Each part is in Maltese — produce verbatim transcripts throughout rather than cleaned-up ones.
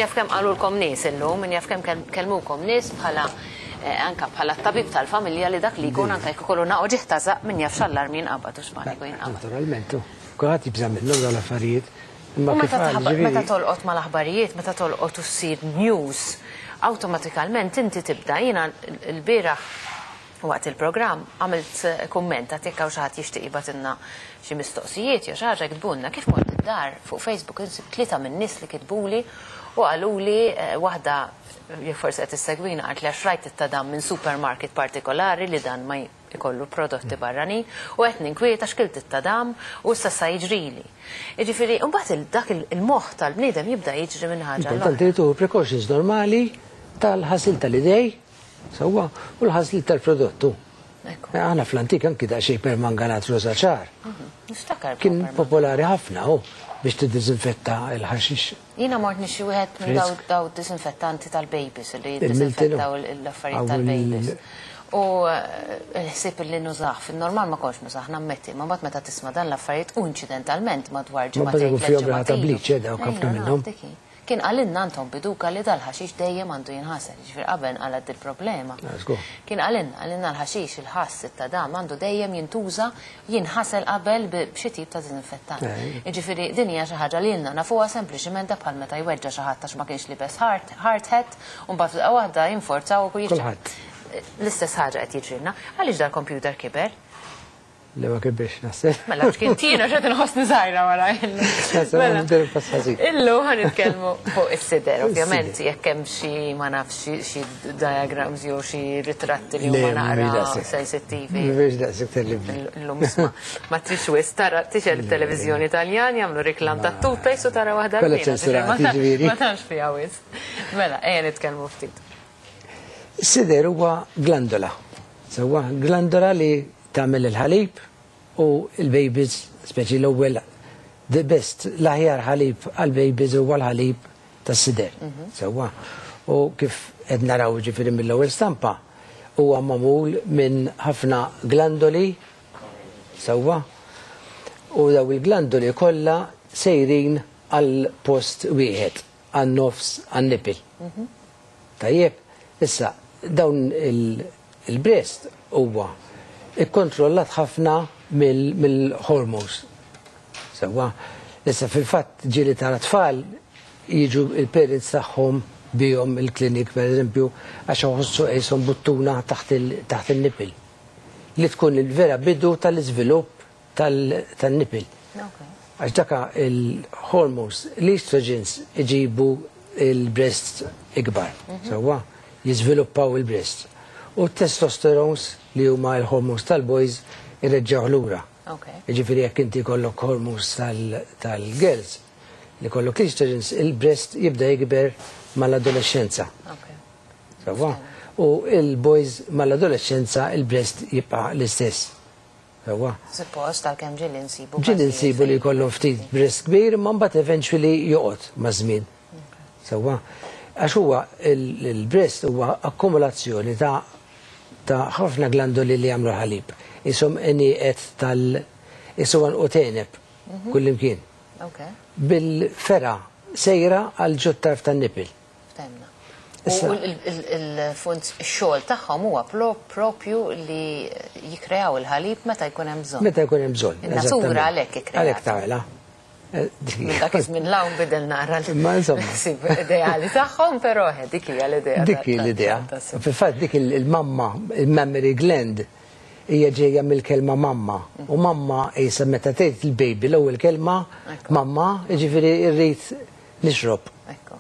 Jaf kemm qalulkom nies illum, min jaf kemm kellmukom nies bħala eh, anka bħala tabib tal-familja li dak li jkun anka jekk ikollu uġigħ ta' żaqq, min jaf x'allarm jinqabad u x'paniku jinqabad. Naturalment, kulħadd jibża' minnhom dawn l-affarijiet. U meta meta tolqot mal-aħbarijiet, meta tolqot u ssir news, awtomatikament inti tibda. Jiena l-bieraħ waqt il-programm għamilt eh, kumment għat jekk hawn xi ħadd jixtieq jibgħatilna xi mistoqsijiet jew xi ħaġa, jiktbulna. Kif mort id-dar, fuq Facebook insib tlieta minn nies li kitbuli u qaluli, eh, waħda jekk forsi qed issegwina qalt li għax rajt it-tadam minn supermarket partikolari li dan ma jkollu prodotti barranin u qed ninkwieta x'kilt it-tadam u issa sa jiġrili. Jiġifieri mbagħad dak il-moħħ tal-bniedem jibda jiġri minn ħaġa. Importanti li tieħu precautions normali tal-ħasil tal-idej, sewwa, u l-ħasil tal-prodottu. Aħna fl-antik anki daqsxejn permanganat roża ċar. Niftakar. Kien popolari ħafna u biex tiddiżinfetta l-ħaxix. Jiena mort nixtri wieħed minn daw daw disinfettanti tal-babies li jiddisinfettaw l-affarijiet tal-babies. U l-ħsieb li nużah, fin-normal ma kontx nużah, nammetti, ma mbagħad meta tisma' dan l-affarijiet u inċidentalment madwar ġimagħtejn. Ma fihom ta' bleach, dawk ħafna minnhom. Kien qalilna Anton Biduka li dal-ħaxix dejjem għandu jinħasel, ġifier qabel qalad il-problema. Kien qalilna, qalilna l-ħaxix, il-ħass, it-tadam għandu dejjem jintuża, jinħasel qabel b'xi tip ta' disinfettant. Ġifieri din hija xi ħaġa li ilna nafuha, sempliċiment bħal meta jweġġa' xi ħadd għax ma kienx libes hard hat u mbagħad f'daqqa waħda jinforzaw u Kulħadd. L-istess ħaġa qed jiġrilna. Għaliex dal-computer kiber? Le, ma kibirx, naħseb. Mela, x'kien tina x'qed inħossni żgħira wara. Mela. Illum ħa nitkellmu fuq is-sider, ovvjament, jekk hemm xi, ma nafx, xi diagrams jew xi ritratti li huma naqra sensittivi. Mhux daqshekk terribbli. Illum isma' ma trix wisq tara tixgħel it-televiżjoni Taljan, jagħmlu reklam ta' toothpaste u tara waħda. Kollha ċensurati, ġifieri. Ma tantx fiha wisq. Mela, ejja nitkellmu ftit. Is-sider huwa glandola. Sewwa, glandola li tagħmel il-ħalib u il-babies, speċi l-ewwel, the best, l-aħjar ħalib għal-babies huwa l-ħalib tas-sider. Sewwa. U kif qed naraw, ġifieri mill-ewwel stampa, huwa magħmul minn ħafna glandoli, sewwa. U daw il-glandoli kollha sejrin għal post wieħed, għan-nofs, għan-nipple. Tajjeb, issa dawn il-breast huwa ikkontrollat ħafna mill-hormones. Sewwa, issa fil-fatt ġieli tara tfal jiġu il-parents tagħhom bihom il-klinik, per eżempju, għax iħossu qishom buttuna taħt il-nipple. Li tkun il-vera bidu tal-iżvilupp tal-nipple. Għax daka il-hormones, l-estrogens iġibu il-breast ikbar, sewwa, jiżviluppaw il-breast. U testosterones, li huma l-hormones tal-boys, irreġġaw lura. Ġifieri jekk inti kollok hormones tal-girls, li kollok estrogens, il-breast jibda jikber mal-adolescenza. Sewwa? U il-boys mal-adolescenza il-breast jibqa' l-istess. Sewwa? Suppost, għalkemm ġieli nsibu. Ġieli nsibu li jkollhom ftit breast kbir, ma mbagħad eventually joqgħod maż-żmien. Sewwa? Għax huwa il-breast huwa akkumulazzjoni ta' ta' ħafna glandoli li jagħmlu ħalib. Isom għenieqed tal isu għanqud għeneb kullimkien. Bil-fergħa sejra għal ġot-tarf tan-nipple. Ftemna. U il-funz xogħol tagħhom huwa propju li jikreaw il-ħalib meta jkun hemm bżonn. Meta jkun hemm bżonn. In-natura għalhekk ikkreat. Għalhekk tagħmilha. Minn dak iż-żmien 'l hawn bidel nara Ma insomma. l-ideali tagħhom, però dik hija l-idea. Dik hi l-idea. Fil-fatt dik il-mamma, il-mammary gland, hija ġejja mill-kelma mamma. U mamma qisha meta tgħid il-baby l-ewwel kelma mamma, jiġifieri rrid nixrob.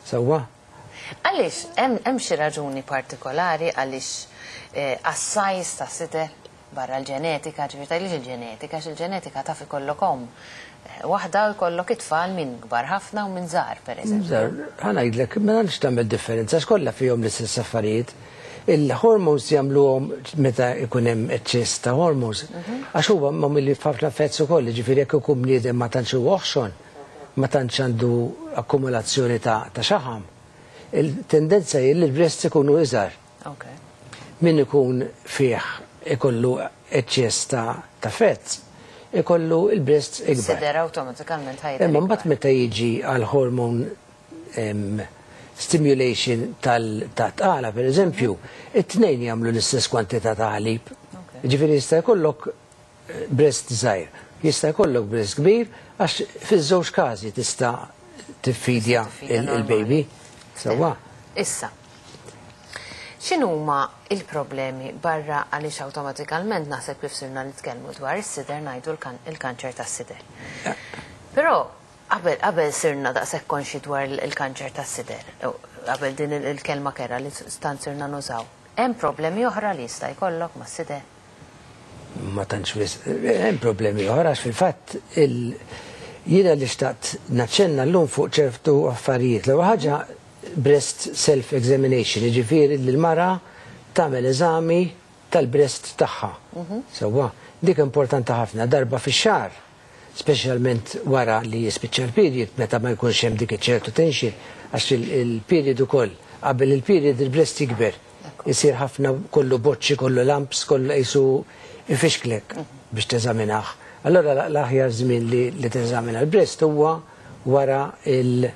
Sewwa? Għaliex hemm xi raġuni partikolari għaliex għas-size ta' sider barra l-ġenetika, ġifieri tgħidlix il-ġenetika, għax il-ġenetika taf ikollok omm waħda u jkollok it-tfal minn kbar ħafna u minn żgħar, pereżempju. Żgħar, ħa ngħidlek, ma tantx tagħmel differenza, għax kollha fihom l-istess affarijiet. Il-hormones jagħmluhom meta jkun hemm eċċess ta' hormones. Għax huwa magħmul ħafna fats ukoll, ġifieri jekk ikun bniedem ma tantx huwa oħxon, ma tantx għandu akkumulazzjoni ta' xaħam, il-tendenza hi li l-breasts ikunu iżgħar. Min ikun fih ikollu eċċess ta' fats, ikollu il-breasts ikbar. Sider awtomatikament ħajja. Imma mbagħad meta jiġi għal hormone stimulation tal-tqala, per eżempju, it-tnejn jagħmlu l-istess kwantità ta' ħalib. Ġifieri jista' jkollok eh, breast żgħir, jista' jkollok breast kbir, għax fiż-żewġ każi tista' tiffidja il-baby. Sewwa. Issa, x'inhuma il-problemi barra għaliex awtomatikament naħseb kif sirna nitkellmu dwar is-sider ngħidu il-kanċer tas-sider. Però qabel qabel sirna daqshekk konxi dwar il-kanċer tas-sider, qabel din il-kelma kerha li stant sirna nużaw. Hemm problemi oħra li jista' jkollok mas-sider? Ma tantx wisq, hemm problemi oħra għax fil-fatt jiena li xtaqt naċċenna llum fuq ċertu affarijiet. L-ewwel ħaġa breast self-examination, jiġifieri li l-mara tagħmel eżami tal-breast tagħha. Sewwa, dik importanti ħafna darba fix-xahar, speċjalment wara li jispiċċa l-period, meta ma jkunx hemm dik ċertu tension, għax il-period ukoll, qabel il-period il-breast jikber. Isir ħafna kollu boċċi, kollu lumps, kollu qisu ifixklek biex teżaminah. Allora l-aħjar żmien li teżamina l-breast huwa wara il-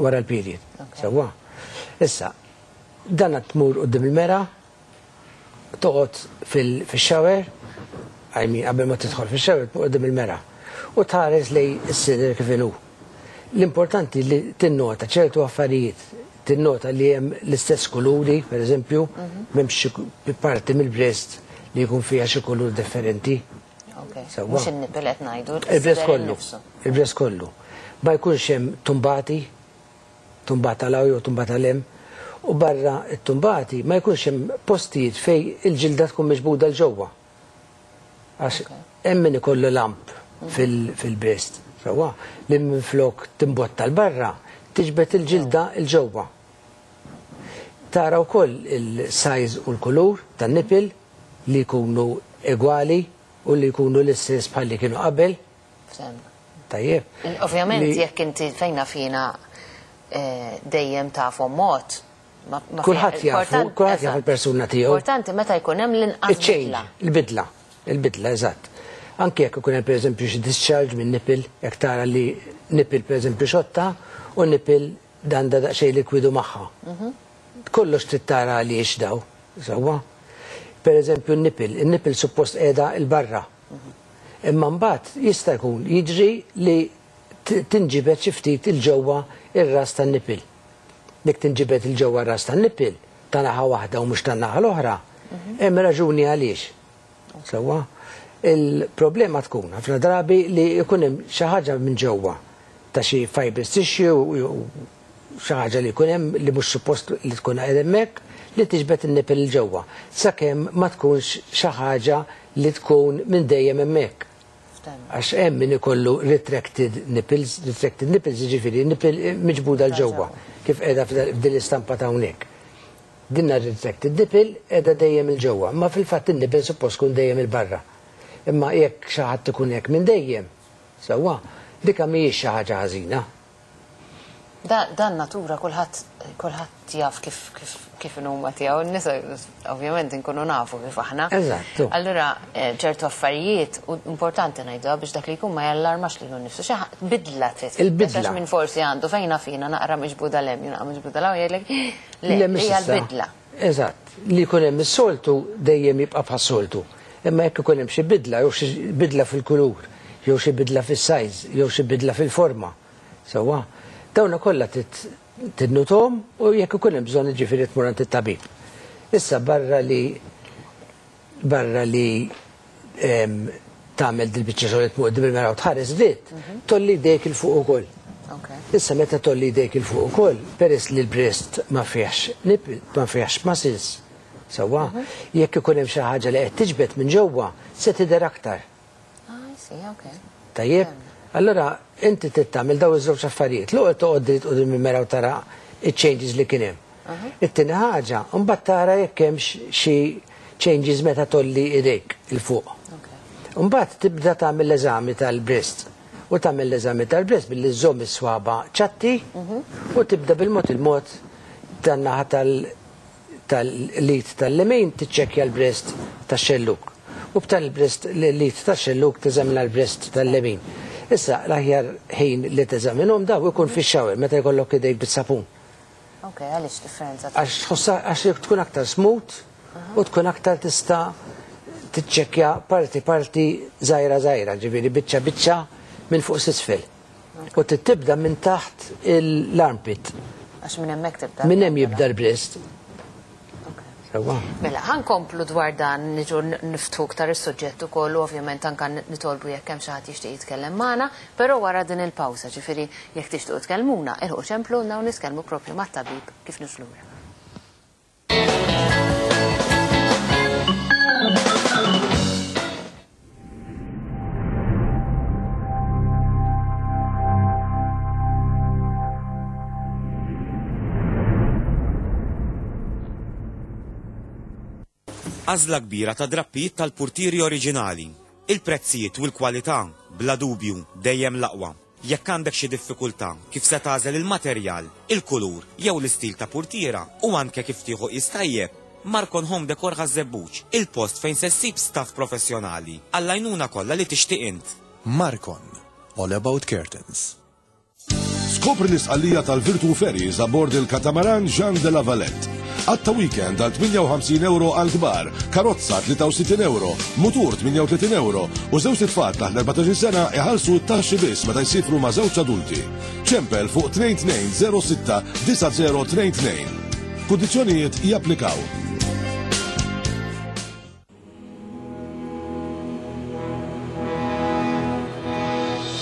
wara l-period. Sewwa. Issa, dan tmur quddiem il-mera, toqgħod fil-shower, I mean, qabel ma tidħol fil-shower, tmur quddiem il-mera. U tħares lejn is-sider kif inhu. L-importanti li tinnota ċertu affarijiet, tinnota li hemm l-istess kuluri, per eżempju, m'hemmx xi parti mill-breast li jkun fiha xi kulur differenti. Sewwa. Mhux in-nipple qed ngħidu. Il-breast kollu. Il-breast kollu. Ma jkunx hemm tumbati, tumbata 'l hawn jew tumbata 'l hemm, u barra t-tumbati ma jkunx hemm postijiet fejn il-ġilda tkun miġbuda 'l ġewwa. Għax hemm min ikollu lump fil-breast. Sewwa, li minflok timbotta 'l barra, tiġbed il-ġilda 'l ġewwa. Tara wkoll il-size u l-kulur tan-nipple li jkunu egwali u li jkunu l-istess bħal li kienu qabel. Tajjeb. Ovvjament jekk inti fejna fina eh, dejjem tafhom mod. Kulħadd jafu, kulħadd jaf il-persuna tiegħu. Importanti meta jkun hemm l-inqas bidla. Il-bidla, il-bidla, eżatt. Anke jekk ikun hemm pereżempju xi discharge minn nipple, jekk tara li nipple pereżempju xotta u nipple dan da daqsxejn likwidu magħha. Mhm. Kollox trid tara għaliex daw, sewwa. Per eżempju n-nipple, il-nipple suppost qiegħda 'l barra. Imma mbagħad jista' jkun jiġri li tinġibed xi ftit 'il ġewwa ir-ras tan-nipple. Dik tinġibed 'il ġewwa ras tan-nipple ta' naħa waħda u mhux ta' naħa l-oħra, hemm raġuni għaliex. Sewwa, il-problema tkun ħafna drabi li jkun hemm xi ħaġa minn ġewwa ta' xi fibrous tissue u xi ħaġa li jkun hemm li mhux suppost li tkun qed hemmhekk li tiġbed in-nipple 'il ġewwa. Sakemm ma tkunx xi ħaġa li tkun minn dejjem hemmhekk. Għax hemm min ikollu retracted nipples, retracted nipples jiġifieri nipple miġbuda 'l ġewwa, kif qiegħda f'din l-istampa ta' hawnhekk. Dinna retracted nipple qiegħda dejjem 'il ġewwa, ma fil-fatt in-nipple suppost tkun dejjem 'il barra. Imma jekk xi ħadd ikun hekk minn dejjem, sewwa, dika mhijiex xi ħaġa ħażina. Dan natura kulħadd kulħadd jaf kif kif kif huma tiegħu n-nisa ovvjament inkunu nafu kif aħna. Eżattu. Allura eh, ċertu affarijiet u importanti ngħidu biex dak li jkun ma jallarmax lilu nnifsu. Xi bidla trid. Il-bidla. Għax minn forsi għandu fejna fina naqra miġbuda 'l hemm, naqra miġbuda 'l hawn jgħidlek le, hija l-bidla. Eżatt, li jkun hemm is-soltu dejjem jibqa' bħas-soltu. Imma jekk ikun hemm xi bidla jew xi bidla fil-kulur, jew xi bidla fis-size, jew xi bidla fil-forma. Sewwa, dawna kollha tinnotahom u jekk ikun hemm bżonn jiġifieri tmur għand it-tabib. Issa barra li barra li tagħmel dil-biċċa xogħol tmur quddiem il-mera u tħares dritt, tgħolli jdejk 'il fuq ukoll. Issa meta tgħolli jdejk 'il fuq ukoll, peress li l-breast ma fihx nipple, ma fihx muscles, sewwa, jekk ikun hemm xi ħaġa li qed tiġbed minn ġewwa, se tidher aktar. Tajjeb, allora inti trid tagħmel daw iż-żewġ affarijiet. L-ewwel toqgħod dritt quddiem il-mera u tara iċ-changes li kien hemm. It-tieni ħaġa, mbagħad tara jekk hemmx xi changes meta tgħolli idejk 'il fuq. Mbagħad tibda tagħmel l-eżami tal-breast. U tagħmel l-eżami tal-breast billi żżomm is-swaba ċatti u tibda bil-mod il-mod tan-naħa tal-id tal-lemin tiċċekkja l-breast tax-xelluk. U b'tal-breast l-id tax-xelluk teżamina l-breast tal-lemin. Issa l-aħjar ħin li teżaminhom daw ikun fix-shower meta jkollok idejk bis-sapun. Ok, għaliex differenza? Għax tħossha għax tkun aktar smooth u tkun aktar tista' tiċċekkja parti parti żgħira żgħira, ġifieri biċċa biċċa minn fuq s'isfel. U tibda minn taħt l-armpit. Għax minn hemmhekk tibda. Minn hemm jibda l-breast. Mela, ħankomplu dwar dan niġu niftħu iktar is-suġġett ukoll u ovvjament anke nitolbu jekk hemm xi ħadd jixtieq jitkellem magħna, però wara din il-pawża, ġifieri jekk tixtiequ tkellmuna, ilħqu ċempluna u nitkellmu proprju mat-tabib kif niġu lura. Għażla kbira ta' drappijiet tal-purtieri oriġinali. Il-prezzijiet u l-kwalità, bla dubju, dejjem l-aqwa. Jekk għandek xi diffikultà kif se tagħżel il-materjal, il-kulur jew l-istil ta' purtiera u anke kif tieħu qis tajjeb, Marcon Home Decor Ħaż-Żebbuġ, il-post fejn se ssib staff professjonali għall-għajnuna kollha li tixtieq int. Marcon, all about curtains. Skopri l-isqallija tal-Virtu Ferries abbord il-katamaran Jean de la Valette. Għatta weekend għal tmienja u ħamsin euro għal kbar, karozza tlieta u sittin euro, mutur tmienja u tletin euro u żewġ tfal taħt l-erbatax-il sena iħallsu t-taxxi biss meta jsifru ma' żewġ adulti. Ċempel fuq tnejn tnejn zero sitta disa' zero tnejn tnejn. Kundizzjonijiet japplikaw.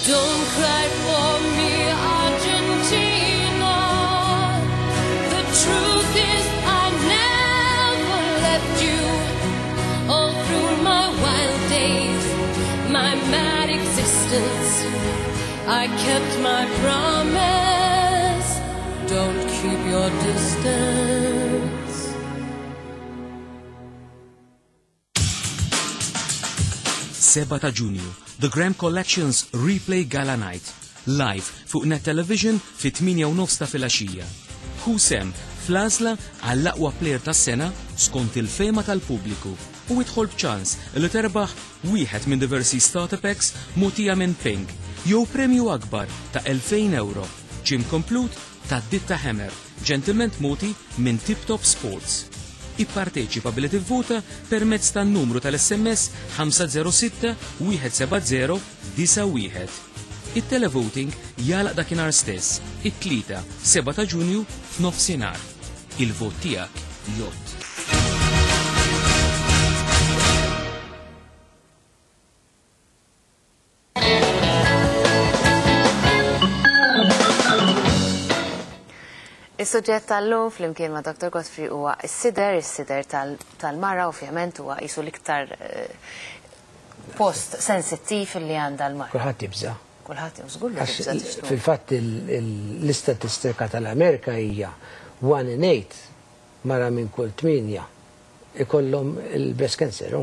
Don't cry for me, Argentina. The truth is I never left you. All through my wild days, my mad existence, I kept my promise. Don't keep your distance. Seba ta' Ġunju, The Graham Collections Replay Gala Night, live fuq Net Television fit tmienja u nofs ta' filgħaxija. Hu sem fl-għażla għall-aqwa player tas-sena skont il-fema tal-pubbliku u idħol b'ċans li terbaħ wieħed minn diversi starter packs mogħtija minn Pink jew premju akbar ta' elfejn euro, gym komplut ta' Ditta Hammer, ġentilment mogħti minn Tip Top Sports. Ipparteċipa billi tivvota permezz tan-numru tal-S M S ħamsa zero sitta wieħed seba' zero disa' wieħed. Il-televoting jalaq dakinhar stess, it-tlieta seba' ta' Ġunju f'nofsinhar. Il-vot tiegħek jgħodd. Is-suġġett tal-lum flimkien ma' Doctor Godfrey huwa s-sider, is-sider tal-mara ovvjament huwa qisu l-iktar post sensittiv li għandha l-mara. Kulħadd jibża'. Kulħadd żgur li jibża' tixtieq. Fil-fatt l-istatistika tal-Amerika hija one in eight mara minn kull tmienja ikollhom il-breast cancer.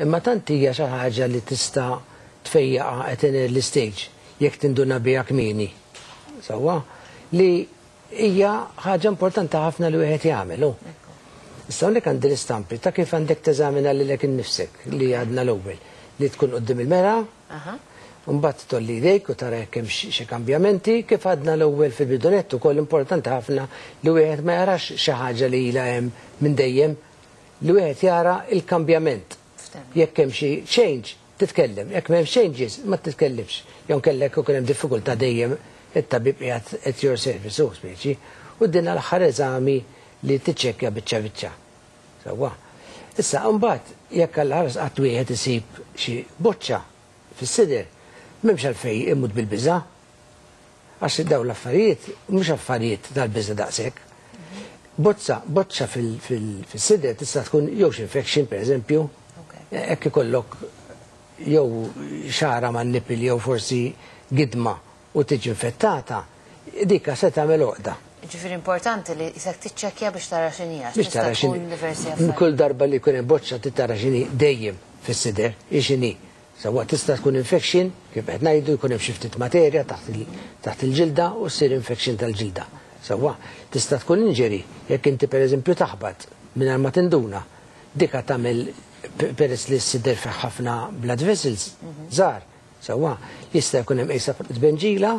Imma tant hija xi ħaġa li tista' tfejjaqa at an early stage jekk tinduna biha kmieni. Sewwa li hija ħaġa importanti ħafna li wieħed jagħmel. Issa hawnhekk għandi l-istampi ta' kif għandek teżamina lilek innifsek li għadna l-ewwel li tkun quddiem il-mera, mbagħad tolli jdejk u tara jekk hemm xi kambjamenti, kif għadna l-ewwel fil-bidunett ukoll importanti ħafna li wieħed ma jarax xi ħaġa li ilha hemm minn dejjem, li wieħed jara l-kambjament. Jekk hemm xi change, titkellem, jekk m'hemmx changes, ma titkellimx. Jew kellek ukoll hemm diffikultà dejjem it-tabib qiegħed at your service, u speċi, u din l-aħħar eżami li tiċċekkja biċċa biċċa. Sewwa. Issa mbagħad jekk għall-ħares qatt wieħed isib xi boċċa fis-sider, m'hemmx għalfejn imut bil-biża'. Għax dawn l-affarijiet mhux affarijiet tal-biża' daqshekk. Bozza, boċċa fil-sider tista' tkun jew xi infection pereżempju, hekk ikollok jew xara man-nipil jew forsi gidma u tiġi infettata, dika se tagħmel għoqda. Ġifieri importanti li isek tiċċekkja biex tara x'inhi, għax Biex tara tista' tkun x'inhi. diversi affarijiet. Kull darba li jkun hemm boċċa tara x'inhi dejjem fis-sider, hi x'inhi. Sewwa tista' tkun infection, kif qed ngħidu, jkun hemm xi ftit materja taħt il-, taħt il-ġilda u ssir infection tal-ġilda. Sewwa tista' tkun injury jekk inti pereżempju taħbat mingħajr ma tinduna. Dika tagħmel peress li s-sider fih ħafna blood vessels żgħar. Sewwa jista' jkun hemm qisha tbenġila,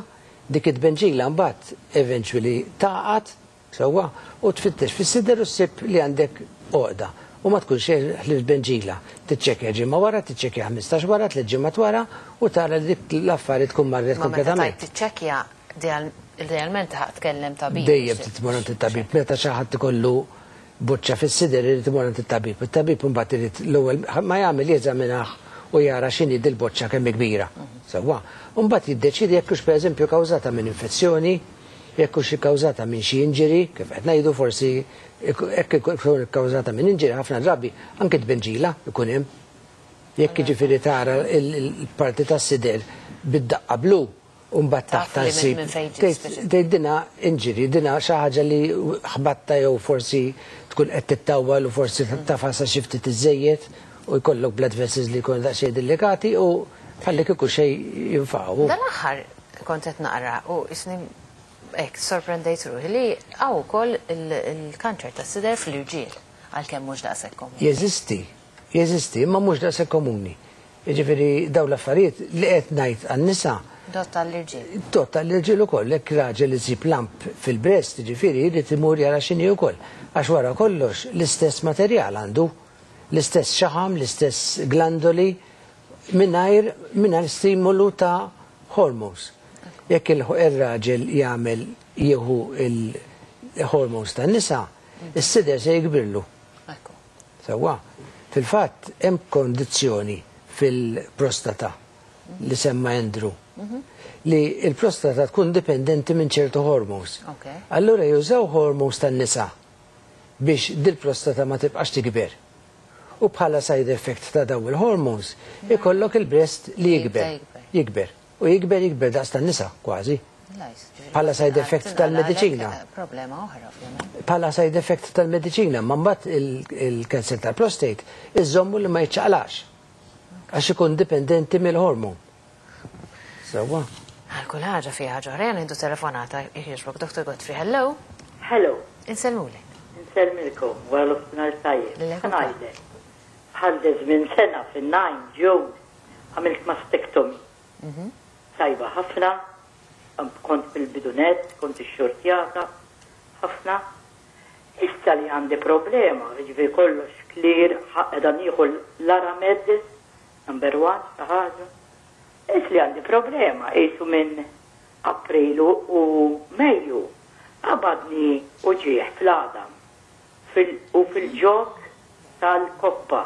dik it-tbenġila mbagħad eventually taqgħad Sewwa, u tfittex fis-sider u ssib li għandek għoqda. U ma tkun xejn ħlief benġila. Tiċċekkja ġimgħa wara, tiċċekkja ħmistax wara, tliet ġimgħat wara u tara li dik l-affari tkun marret Ma meta kompletament. tajt tiċċekkja, idealment ħa tkellem tabib. Dejjem titmur għand it-tabib. Meta xi ħadd ikollu boċċa fis-sider irid imur għand it-tabib. It-tabib imbagħad irid l-ewwel ma jagħmel jeżaminah u jara x'inhi dil-boċċa kemm hi kbira. Sewwa. U mbagħad jiddeċiedi jekk hux pereżempju kawżata minn infezzjoni, jekk hux ikkawżata minn xi injury, kif qed ngħidu forsi jekk ikun ikkawżata minn injury ħafna drabi anke tbenġila ikun hemm. Jekk jiġifieri tara il-parti tas-sider bid-daqqa blu u mbagħad Taf taħt li minn- ssib minn fejn ġiet tgħid speċi. tgħid dina injury, dina xi ħaġa li ħbatta jew forsi tkun qed tittawwal u forsi tafasa xi ftit iżejjed u jkollok blood vessels li jkunu daqsxejn delikati u bħalli kieku xejn jinfaqgħu. Dan l-aħħar kont qed naqra u isni hekk sorprendejt ruħi li hawn ukoll il-kanċer tas-sider fl-irġiel għalkemm mhux daqshekk komuni. Jeżisti, jeżisti, imma mhux daqshekk komuni. Jiġifieri dawn l-affarijiet li qed ngħid għan-nisa Dott tal-irġiel. Tot tal-irġiel ukoll, jekk raġel isib lump fil-breast, jiġifieri jrid imur jara x'inhi wkoll. Għax wara kollox l-istess materjal għandu, l-istess xaħam, l-istess glandoli, mingħajr mingħajr stimolu ta' hormones. Jekk il-raġel jagħmel jieħu il-hormones tan-nisa, is-sider se jikbirlu. Ekku. Sewwa, fil-fatt hemm kondizzjoni fil-prostata li semma Andrew li il-prostata tkun dipendenti minn ċertu hormones. Ok. Allura jużaw hormones tan-nisa biex dil-prostata ma tibqax tikber. U bħala side effect ta' daw il-hormones ikollok il-breast li Jibda jikber. jikber. Jikber. U jikber jikber daqs tan-nisa kważi. Bħala side effect tal-mediċina. Problema oħra, ovvjament. Bħala side effect tal-mediċina, ma mbagħad il-cancer tal-prostate iżommu li ma jiċċaqlax. Għax ikun dipendenti mill-hormon. Sewwa. Għal kull ħaġa fiha ħaġa oħra, nieħdu telefonata, jogħġbok Dr. Godfrey, hello. Hello, Insellmulek. insellmilkom, wara nofsinhar tajjeb. Lilek ukoll. Ħa ngħidlek. Bħal minn sena fin-nine June għamilt mastectomy. Tajba ħafna, kont fil-bidu nett, kont ixxurtjata, ħafna. Issa li għandi problema, ġifieri kollox clear, qiegħda nieħu l-Arramed, number one, ta' ħaġa. Issa li għandi problema, qisu minn Aprilu u Mejju, qabadni uġigħ fl-għadam fil- u fil-ġog tal-koppa.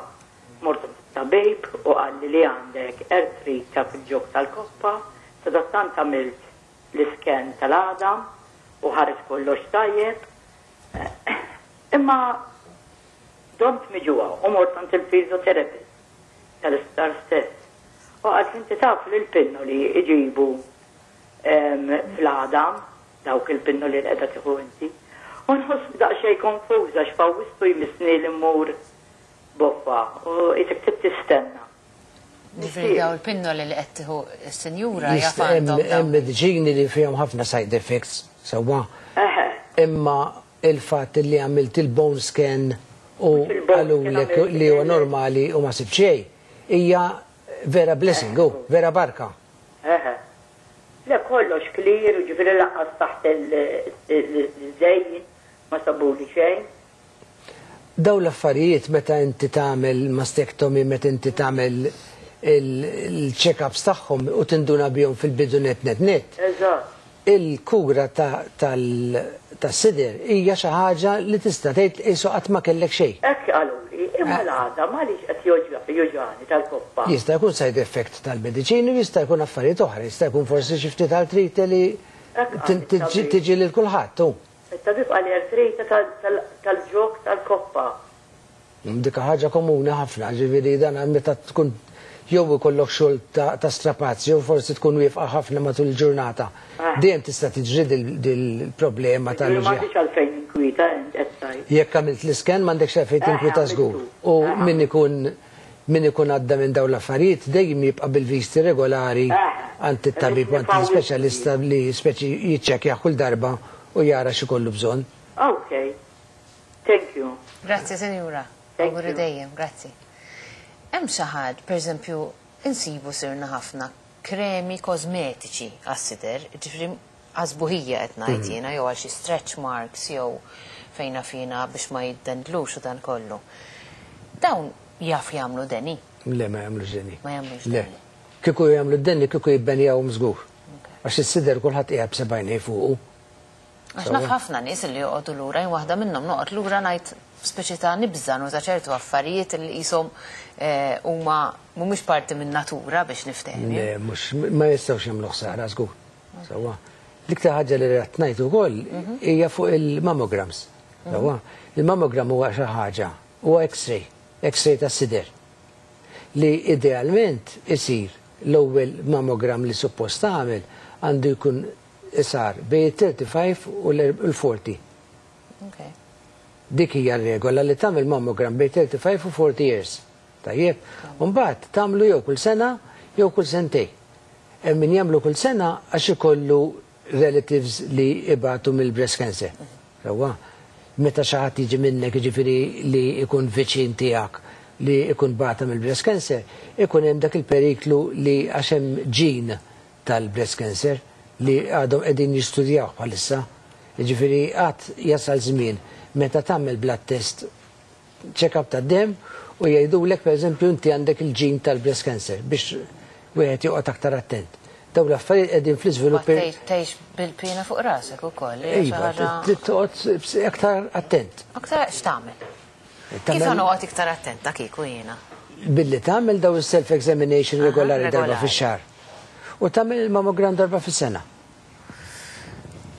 Mort tabib u qalli li għandek artrite fil-ġog tal-koppa, sadattant għamilt l-scan tal-għadam u ħareġ kollox tajjeb. Imma domt miġugħa u mort għand il-physiotherapist tal-isptar stess. U għad inti taf li l-pinnoli iġibu em, fl-għadam, dawk il-pinnoli li qiegħda tieħu inti. U nħoss daqsxejn konfuża x'f'Awwissu jmissni li mmur boffa u jitek trid tistenna. Ġifieri daw il-pinnoli li qed tieħu s-sinjura jaf Jista' hemm għandhom hemm dawn. mediċini li fihom ħafna side effects, sewwa. Eħe, Imma il-fatt li għamilt il-bone scan u Mhux il-bone scan qalulek għamilt li huwa il- normali u ma sib xejn, hija vera blessing, u vera barka. eħe. Le kollox clear u ġifieri lanqas taħt il-żejjin ma sabuli xejn. Daw l-affarijiet meta inti tagħmel mastectomy, meta inti tagħmel il-check-ups tagħhom u tinduna bihom fil-bidu net net net. Eżatt. Il-kura ta- tal- tas-sider hija xi ħaġa li tista' tgħid qisu qatt ma kellek xejn. Hekk qaluli, imma l-għadam għaliex qed juġgħani tal-koppa. Jista' jkun side effect tal-mediċini u jista' jkun affarijiet oħra, jista' jkun forsi xi ftit artrite li Hekk tin- qal tiġi it-tabib. tiġi lil kulħadd. hu. Il-tabib qalli artrite tal-ġog tal-koppa. Dik ħaġa komuni ħafna, ġifieri dan meta tkun jew ikollok xogħol ta' ta' strapazzi jew forsi tkun wieqfa ħafna matul il-ġurnata. Ah. Dejjem tista' tiġri dil- dil-problema Ma tal-uġigħ. m'għandix għalfejn inkwieta int qed tgħid. Jekk għamilt l-iscan m'għandekx għalfejn Eh, tinkwita żgur. għamiltu. U Eh, min ikun min ikun għadda minn dawn l-affarijiet dejjem jibqa' bil-visti regolari Eh. għand it-tabib u għand l-ispeċjalista li speċi jiċċekkja kull darba u jara x'ikollu bżonn. Ok. Thank you. Grazzi, sinjura. Thank Auguri you. dejjem, grazzi. Hemm xi ħadd, pereżempju, insibu sirna ħafna kremi kosmetiċi għas-sider, ġifieri Għas-sbuħija qed ngħid jiena, jew għal xi stretch marks jew fejna fina biex ma jiddendlux u dan kollu. Dawn jaf jagħmlu deni. Le, ma jagħmlux deni. Ma jagħmlux Le. deni. Kieku jagħmlu d-deni, kieku jibbenjawhom żgur. Għax is-sider kulħadd qiegħed b'sebgħajnej fuqu. Għax naf ħafna nies li joqogħdu lura, jien waħda minnhom noqgħod lura ngħid speċi ta' nibża' nuża ċertu affarijiet li qishom eh, huma mhumiex parti minn natura biex niftehmi. Le, mhux ma jistgħux jagħmlu ħsara żgur. Sewwa. L-iktar ħaġa li rrid ngħid ukoll hija fuq il-mammograms. Sewwa. Il-mammogram huwa xi ħaġa, huwa X-ray, X-ray tas-sider. Li idealment isir l-ewwel mammogram li suppost tagħmel għandu jkun isar bejn thirty-five u l-forty. Okay. Dik hija r-regola li tagħmel mammogram bejn thirty-five u forty years. Tajjeb. Mbagħad tagħmlu jew kull sena jew kull sentejn. Hemm min jagħmlu kull sena għax ikollu relatives li ibatu mill-breast cancer. Sewwa. Meta xi ħadd jiġi minnek, jiġifieri li jkun viċin tiegħek li jkun bata mill-breast cancer, ikun hemm dak il-periklu li għax hemm gene tal-breast cancer li għadhom qegħdin jistudjaw bħalissa. Jiġifieri għad jasal żmien meta tagħmel blood test, check-up ta' dem, u jgħidulek, pereżempju, inti għandek il-gene tal-breast cancer, biex wieħed joqgħod aktar attent. Dawn l-affarijiet qegħdin fl-iżvilupp. Tgħix bil-pina fuq rasek ukoll. Hija xi Iva, ħaġa- trid toqgħod aktar attent. Aktar x'tagħmel? Kif Tagħmel- noqgħod iktar attenta kieku jiena? Billi tagħmel daw il-self-examination Aha, regolari darba regolari. fix-xahar. U tagħmel il-mammogram darba fis-sena.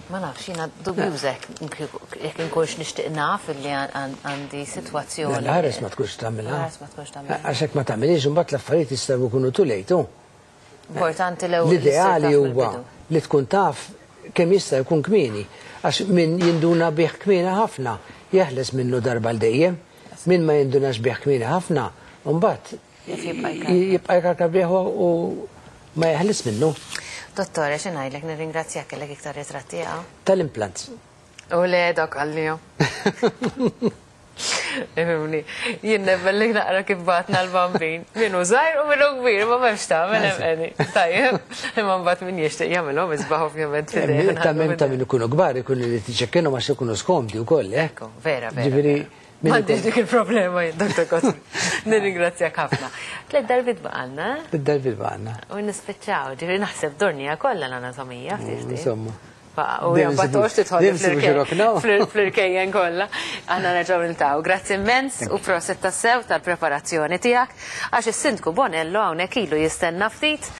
Ma nafx, jiena dubjuża jekk inkunx nixtieq naf illi għandi sitwazzjoni. L-ħares ma tkunx tagħmilha. L-ħares ma tkunx tagħmilha. Għax hekk ma tagħmilix, imbagħad l-affarijiet jistgħu jkunu too late. hu. Importanti l-ewwel L-ideali huwa li tkun taf kemm jista' jkun kmieni. Għax min jinduna bih kmieni ħafna, jeħles minnu darba l dejjem. Min ma jindunax bih kmieni ħafna, mbagħad Jibqa' jkarkar. jibqa' jkarkar bih u ma jeħles minnu. Dottore, xi ngħidlek, nirringrazzjak, kellek iktar ritratti għaw. Tal-implants. U le, dok għalliju. Ifhimni, jien nebbellik naqra kif batna l-bambin. Minu żgħir u minu kbir, ma m'hemmx tagħmel hemm qegħdin. Tajjeb, imma mbagħad min jixtieq jagħmilhom isbaħ ovvjament f'idejh. Ta' min ta' min ikunu kbar ikunu li tiċċekkinu ma ikunu skomdi wkoll, eh? Ekku, vera, vera. Ġifieri min M'għandix ikun- dik il-problema jien, Doktor Kosmi. Nirringrazzjak ħafna. Tliet darbiet baqalna, eh? Bid-darbiet baqalna. U nispiċċaw, ġifieri naħseb dornija kollha l-anatomija, ftit ftit. Insomma. U Dejjem jabba nsibu- toqgħodx tidħol dejjem nsibu xi rokna. fl-irkejjen kollha. Aħna nerġgħu niltaqgħu. Grazzi immens u prosit tassew tal-preparazzjoni tiegħek, għax is-Sindku Bonello hawnhekk ilu jistenna ftit.